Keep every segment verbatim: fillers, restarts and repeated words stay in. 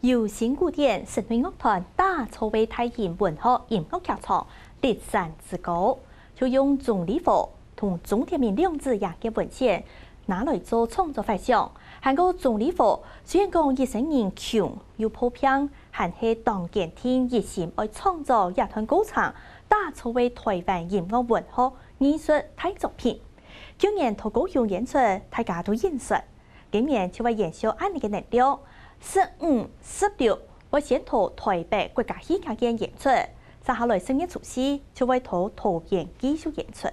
由新古典室內樂團打造个大型文學音樂劇場《笠山之歌》，就用鍾理和同鍾天明兩子爺个文選拿來做創作發想。還過鍾理和雖然講一生人窮又破病，還係當堅定一心愛創作這段過程，打造个台灣音樂文學藝術大作品。舊年在高雄演出，大家都認識。 今年就會延續恁呢个能量，十五、十六會先在台北國家戲劇院演出，接下來十月初四就會在桃園繼續演出。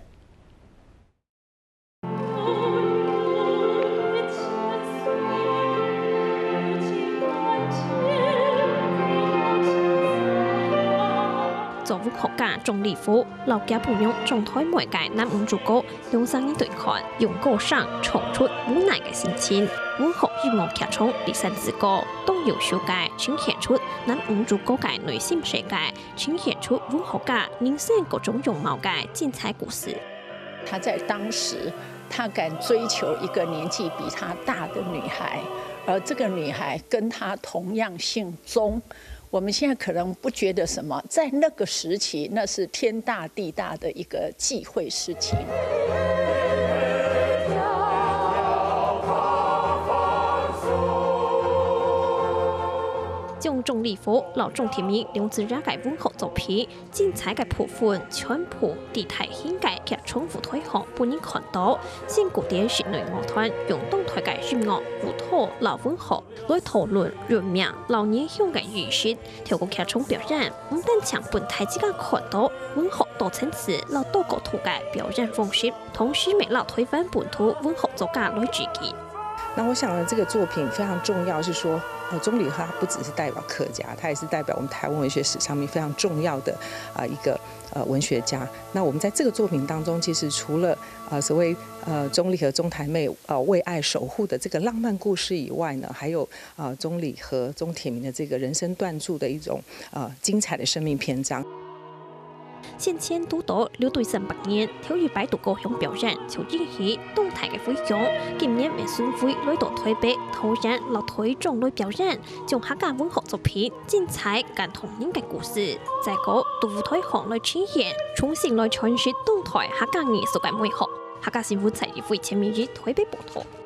作文學家鍾理和摎厥餔娘張惠妹个男女主角，兩儕人對看，用歌聲唱出無奈个心情。文學音樂劇場《笠山之歌》當優秀个呈現出男女主角个內心世界，呈現出文學家人生各種樣貌个精彩故事。她在當時，她敢追求一個年紀比她大的女孩，而這個女孩跟她同樣姓鍾。我們現在可能不覺得什麼，在那個時期，那是天大地大的一個忌諱事情。 將鍾理和摎鍾天明兩子爺个文學作品精彩个部分全部在大型个劇場舞台項分人看到。新古典室內樂團用當代个音樂、舞蹈摎文學來討論運命摎原鄉个意識。透過劇場表演，毋單淨分大自家看到文學多層次摎多角度个表演方式，同時乜摎台灣本土文學作家來致敬。 那我想呢，這個作品非常重要，是說，呃，鍾理和她不只是代表客家，她也是代表我們台灣文學史上面非常重要的啊、呃一個呃文學家。那我們在這個作品當中，其實除了呃所謂呃鍾理和鍾台妹呃為愛守護的這個浪漫故事以外呢，還有呃鍾理和鍾天明的這個人生斷注的一種呃精彩的生命篇章。 先前堵著六堆三百年，頭一擺在高雄表演就引起當大个迴響。今年乜巡迴來到台北、桃園摎台中來表演，將客家文學作品精彩感動人个故事，再過在舞台項來呈現，重新來詮釋當代客家藝術个美學。客家新聞蔡依慧、陳明儀台北報導。